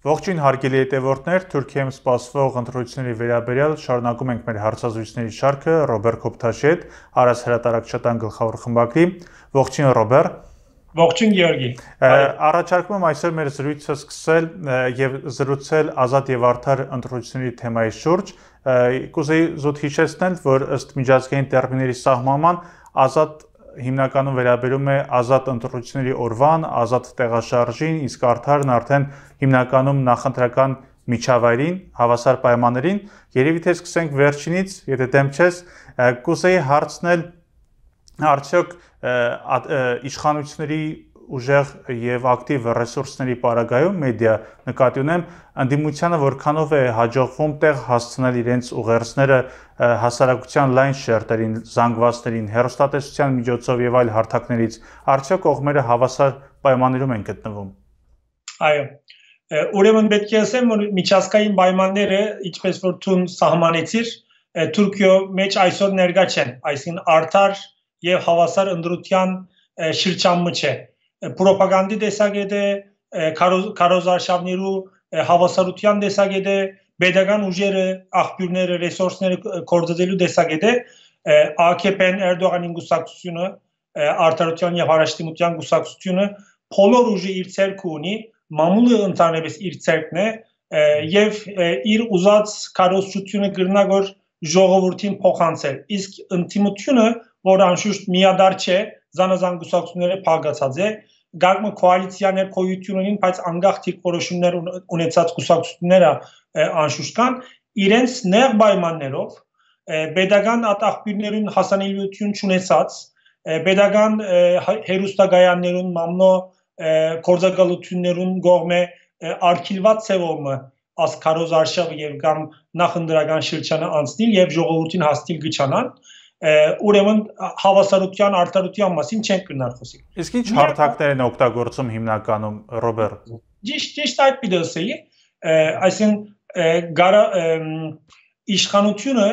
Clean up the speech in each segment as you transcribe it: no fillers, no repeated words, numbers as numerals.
Ողջույն հարգելի հետևորդներ, Թուրքիայում սպասվող ընտրությունների վերաբերյալ շարունակում ենք մեր հարցազրույցների շարքը Ռոբեր Քոբթաշի հետ, Արաս հրատարակչական գլխավոր խմբագրի։ Ողջույն Ռոբեր։ Ողջույն Գեորգի։ Առաջարկում եմ այսօր մեր զրույցը սկսել եւ զրուցել ազատ եւ արդար ընտրությունների թեմայի շուրջ։ Կուզեի զուտ հիշեցնել, որ ըստ միջազգային տերմինների սահմանման ազատ հիմնականում վերաբերում է ազատ ընտրությունների օրվան, ազատ տեղաշարժին, իսկ արդարն արդեն հիմնականում նախընտրական միջավայրին, հավասար պայմաններին։ Երևի թե սկսենք վերջինից, եթե դեմ չես, կուզեի հարցնել արդյոք իշխանությունների ուժեղ եւ ակտիվ ռեսուրսների պարագայում մեդիա նկատի ունեմ ընդդիմությանը որքանով է հաջողվում տեղ հասցնել իրենց ուղերձները հասարակության լայն շերտերին, զանգվածներին, հեռուստատեսության միջոցով եւ այլ հարթակներից, արդյոք կողմերը հավասար պայմաններում են գտնվում։ Այո։ Ուրեմն պետք է ասեմ, որ միջազգային պայմանները, ինչպես որ դու սահմանեցիր, Թուրքիո մեջ այսօր ներկա չեն, այսինքն արդար եւ հավասար ընտրության շրջանը չէ։ Պրոպագանդի տեսակետ է, քարոզարշավներու հավասարության տեսակետ է, pedagogan ուժերը, աղբյուրները, ռեսուրսները կորցնելու տեսակետ է, AKP-ն Էրդողանին գուսակցությունը, արդարության եւ հարաշտիմության գուսակցությունը բոլոր ուժը իր ցերկը ունի, մամուլը ընդհանրապես իր ցերկն է եւ իր ուզած քարոզչությունը գրնագոր ժողովրդին փոխանցել։ Իսկ ընդդիմությունը, որ անշուշտ միադար չէ, զանազան գուսակցությունները փակացած է, գաղտնի կոալիցիաներ կոյություն ունին, բայց անգախ դիրքորոշումներ ունեցած գուսակցությունները անշուշտ կան, իրենց նեղ պայմաններով pedagogan ատաղբյուրներուն հասանելիություն չունեցած, pedagogan հերոստագայաններուն մամնո կորզակալություններուն գողմե արգիլված ծևոմը ասկարոզարշավը եւ կամ նախընտրական շրջանը անցնել եւ ժողովրդին հասնել գճանան ուրեմն հավասարության արդարության մասին չենք գնալ խոսի։ Իսկ ինչ հարթակներ են օգտագործում հիմնականում Ռոբեր։ Ճիշտ այդ պիտի այսինքն իշխանությունը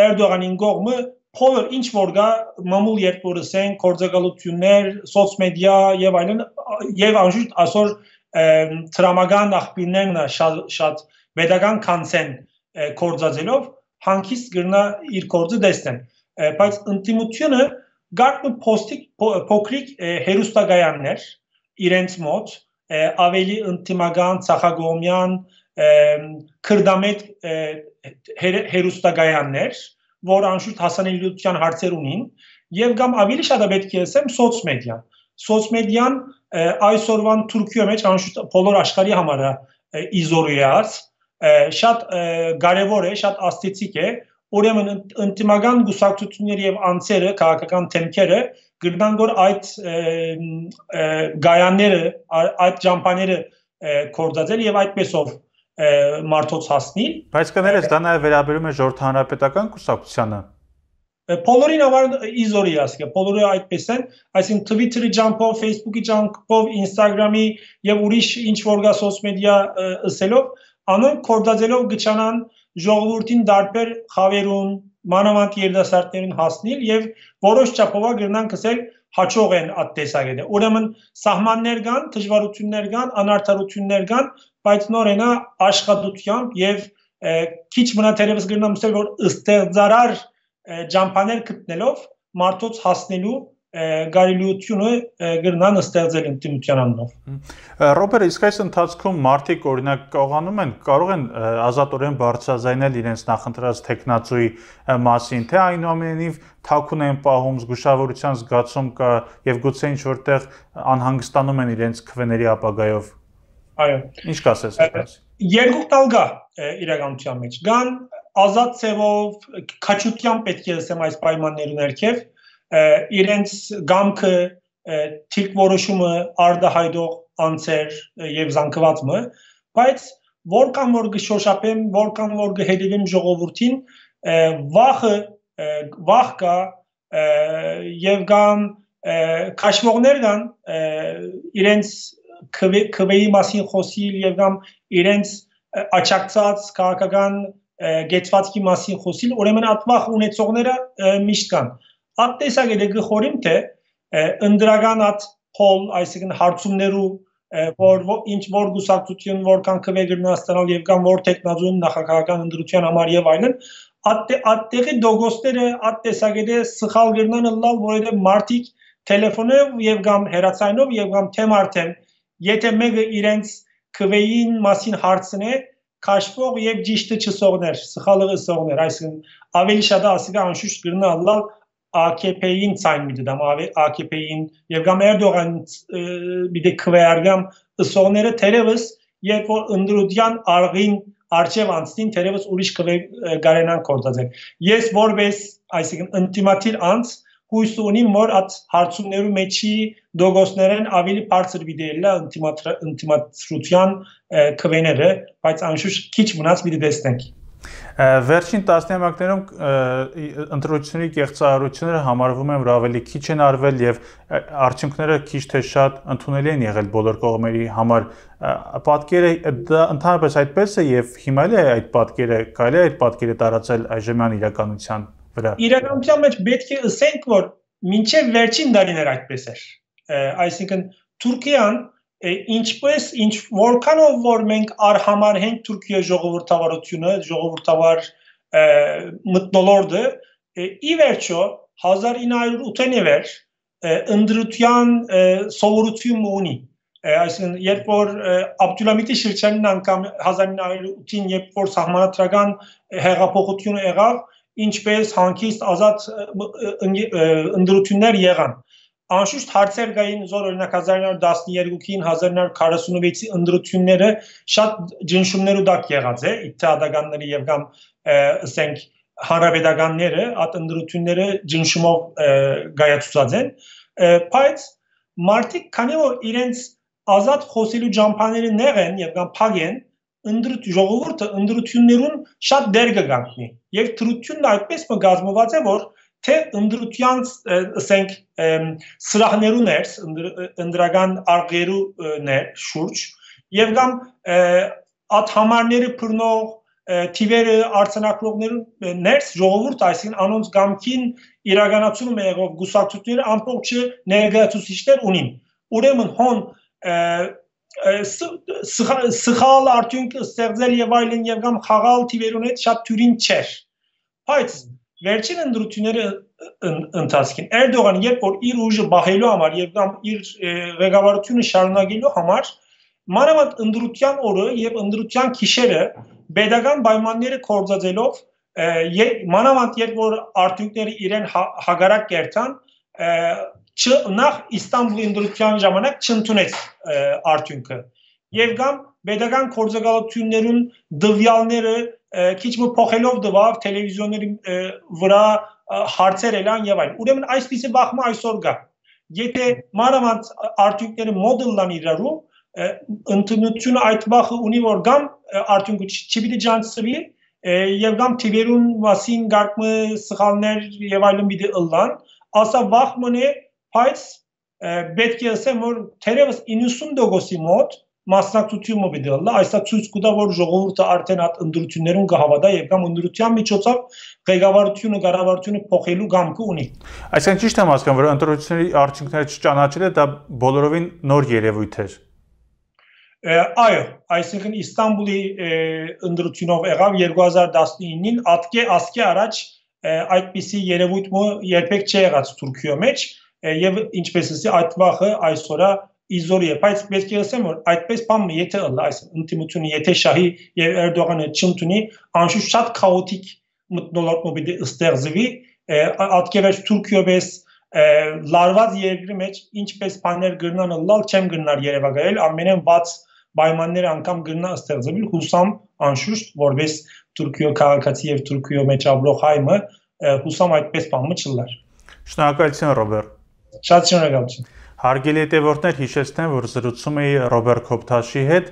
Էրդողանին կողմը բոլոր ինչ որ գա մամուլ երբորսեն կորձակալություններ, սոցմեդիա եւ այլն եւ անշուշտ այսօր տրամական աղբյուրներն շատ pedagogan կանցեն կորձածելով հանկիստ գրնա իր կորձը դեսնեն բայց ընդդիմությունը գարտնը փոքրիկ հերոստագայաններ իրենց մոտ ավելի ընդդիմական ցախագոմյան քրդամետ հերոստագայաններ որ անշուշտ հասանելիության հարցեր ունին եւ կամ ավելի շատ պետք է ասեմ սոցմեդիան այսօրվան Թուրքիո մեջ անշուշտ բոլոր աշխարհի համար է իզորիաց շատ կարեւոր է շատ աստեցիկ է ուրեմն ինտիմական գուսակցությունների եւ անձերը քաղաքական թեմքերը գրնան որ այդ գայանները այդ ճամփաները կորցածել եւ այդպեսով մարդոց հասնիլ բայց կներես դա նաեւ վերաբերում է ժողովրդ հանրապետական կուսակցությանը բոլորին համար իզորիաս է բոլորը այդպես են այսինքն Twitter-ի ջամփով Facebook-ի ջամփով Instagram-ի եւ ուրիշ ինչ որ գա սոցմեդիա ըսելով անոնք կորցածելով գճանան ժողովրդին դարբեր խավերուն մանավանդ երիտասարդներին հասնել եւ որոշ չափով գրնան կսել հաջող են այդ տեսակետը ուրեմն սահմաններ կան դժվարություններ կան անարդարություններ կան բայց նորենա աշխատությամբ եւ քիչ մնացերևս գրնամ ասել որ ստեղծարար ջամփաներ գտնելով մարդոց հասնելու գարելիությունը գրնան ստեղծել ինտիմության անունով Ռոբեր իսկ այս ընթացքում մարդիկ օրինակ կարողանում են կարող են ազատորեն բարձրաձայնել իրենց նախընտրած տեխնացուի մասին թե այնուամենայնիվ թաքուն են պահում զգուշավորության զգացում կա եւ գուցե ինչ որտեղ անհանգստանում են իրենց քվեների ապագայով Այո ինչ կասես այդպես երկու տալ գա իրականության մեջ կան ազատ ծևով քաչության պետք է ասեմ այս պայմաններուն ներքև իրենց գամքը թիք որոշումը արդահայտող անձեր եւ զանգվածը բայց որքան որ գշոշապեմ որքան որ գհետևեմ ժողովրդին վախ կա եւ կամ քաշվողներ կան իրենց քվեի մասին խոսիլ եւ կամ իրենց աճակցած քաղաքական գեցվածքի մասին խոսիլ ուրեմն ատվախ ունեցողները միշտ կան Այդ տեսակետը գխորիմ թե ընդրական այդ փոլ, այսինքն հարցումներու որ ինչ որ գուսակցություն որքան քվեգրնա ստանալ եւ կամ որ տեխնազուն նախագահական ընդրության համար եւ այլն ատտեղի դոգոստերը ատտեսագեդե սխալ գրնան լալ որովհետեւ մարտիկ տելեֆոնով եւ կամ հեռացայինով եւ կամ թեմ արդեն եթե մեկը իրենց քվեին մասին հարցնե քաշվող եւ ճիշտը չսողներ սխալը սողներ այսինքն ավելի շատ ասիկա անշուշտ գրնա լալ AKP-ին ցայն միդամ AKP-ին եւ կամ Էրդողան բիդե քվեարգամ սողները թերևս երբ որ ընդրության արգին արժև անցնին թերևս ուրիշ քվե գարենան կորտածեն ես որպես այսինքն ինտիմատիվ անց հույս ունիմ որ այդ հարցումներու մեջի դոգոսներեն ավելի բարձր վիդեելա ինտիմացրության քվեները բայց անշուշտ քիչ մնաց մի տեսնենք Վերջին տասնամյակներում ընտրությունների կեղծարարությունները համարվում են որ ավելի քիչ են արվել եւ արդյունքները քիչ թե շատ ընդունելի են եղել բոլոր կողմերի համար պատկերը դա ընդհանրապես այդպես է եւ հիմա էլ այդ պատկերը կարելի է այդ պատկերը տարածել այժմյան իրականության վրա իրականության մեջ պետք է ասենք որ մինչեւ վերջին դարիներ այդպես էր այսինքն Թուրքիան ինչպես ինչ որքանով որ մենք արհամարհենք Թուրքիա ժողովրդավարությունը ժողովրդավար մտնոլորտը ի վերջո 1980-ին վեր ընդրության սովորություն ունի այսինքն երբ որ Աբդուլհամիդի շրջանին անգամ 1908-ին երբ որ սահմանադրական հեղափոխությունը եղավ ինչպես հանգիստ ազատ ընդրություններ եղան Անշուշտ հարցեր գային զոր օրինակ 1912-ին 1946-ի ընդրությունները շատ ջնշումներ ու դակ եղած է իթադականների եւ կամ ասենք հանրապետականները այդ ընդրությունները ջնշումով գայացուցած են բայց մարդիկ քանի որ իրենց ազատ խոսելու ջամփաները նեղեն եւ կամ փագեն ժողովուրդը ընդրություններուն շատ դեր կգանքնի եւ թրությունն այդպես մգազմված է որ թե ընդրության ասենք սրահներու ներս ընդրական արգերու ներ շուրջ եւ կամ աթհամարները բռնող թիվերը արցանակողներու ներս ժողովուրդ այսին անոնց գամքին իրականացում եղող գուսակցությունները ամբողջը ներգաղթուցիչներ ունին ուրեմն հոն սխալ արդյունք ստեղծել եւ այլն եւ կամ խաղալ թիվերուն հետ շատ թյուրին չէր բայց Վերջին ընդրությունները ընթացքին Էրդողան երբ որ իր ուժը բահելու համար եւ կամ իր ղեկավարությունը շարունակելու համար մանավանդ ընդրության օրը եւ ընդրության գիշերը pedagogan պայմանները կորցածելով մանավանդ երբ որ արդյունքները իրեն հագարակ կերտան նախ Իստանբուլի ընդրության ժամանակ չընդունեց արդյունքը եւ կամ pedagogan կորցակալություններուն դվյալները քիչ մը փոխելով դվավ տելևիզիոնների վրա հարցեր էլան եւ այլն ուրեմն այսպիսի բախումը այսօր կա եթե մանավանդ արդյունքները մոդելն իրարու ընդունությունը այդ բախը ունի որ կամ արդյունքը չպիտի ջանցվի եւ կամ թիվերուն մասին գարկմը սխալներ եւ այլն պիտի ըլլան ասա բախմն է բայց պետք է ասեմ որ թերևս 90%-ի մոտ մասնակցությունը պիտի ըլլա այսա ցույց կտա որ ժողովուրդը արդեն այդ ընդրություններուն կհավատա եւ կամ ընդրության միջոցով ղեկավարությունը կառավարությունը փոխելու գամքը ունի Այսինքն ճիշտ եմ հասկանում որ ընդրությունների արդյունքները չճանաչելը դա բոլորովին նոր երևույթ էր Այո, այսինքն Իստանբուլի ընդրությունով եղավ 2019-ին ասկե առաջ այդպիսի երևույթը երբեք չի եղած Թուրքիո մեջ եւ ինչպես ասի այդ վախը այսօրա իզորի է, բայց պետք է ասեմ որ այդպես բանը եթե այս ինտիմությունը եթե շահի եւ Էրդողանը չընդունի անշուշտ շատ քաոտիկ մտնոլորտ մոբիլի ստեղծվի ատկևեր Թուրքիոպես լարված երկրի մեջ ինչպես բաներ գրնան լալ չեմ գրնար երևակայել ամենեն բաց պայմանները անգամ գրնա ստեղծվել հուսամ անշուշտ որպես Թուրքիո քաղաքացի եւ Թուրքիո մեջ ապրող հայմը հուսամ այդպես բանը չլար Շնորհակալություն Ռոբերտ Շատ շնորհակալություն Հարգելի հետևորդներ, հիշեցնեմ, որ զրուցում էի Ռոբերտ Քոբթաշի հետ,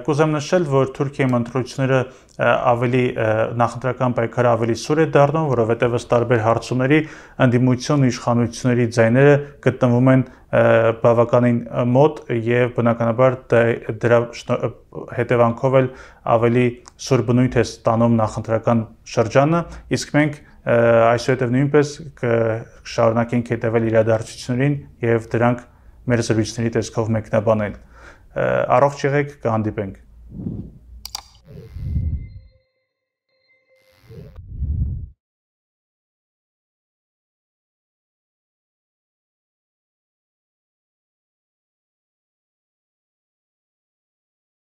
կուզեմ նշել, որ Թուրքիայում ընտրությունները ավելի նախընտրական պայքարը ավելի սուր է դառնում, որովհետև ըստ տարբեր հարցումների ընդդիմություն իշխանությունների ձայները գտնվում են բավականին մոտ եւ բնականաբար դրա հետևանքով էլ ավելի սուր բնույթ է ստանում նախընտրական շրջանը, իսկ մենք այսուհետև նույնպես կշարունակենք հետևել իրադարձություններին եւ դրանք մեր զրույցների տեսքով մեկնաբանել։ Առողջ եղեք, կհանդիպենք։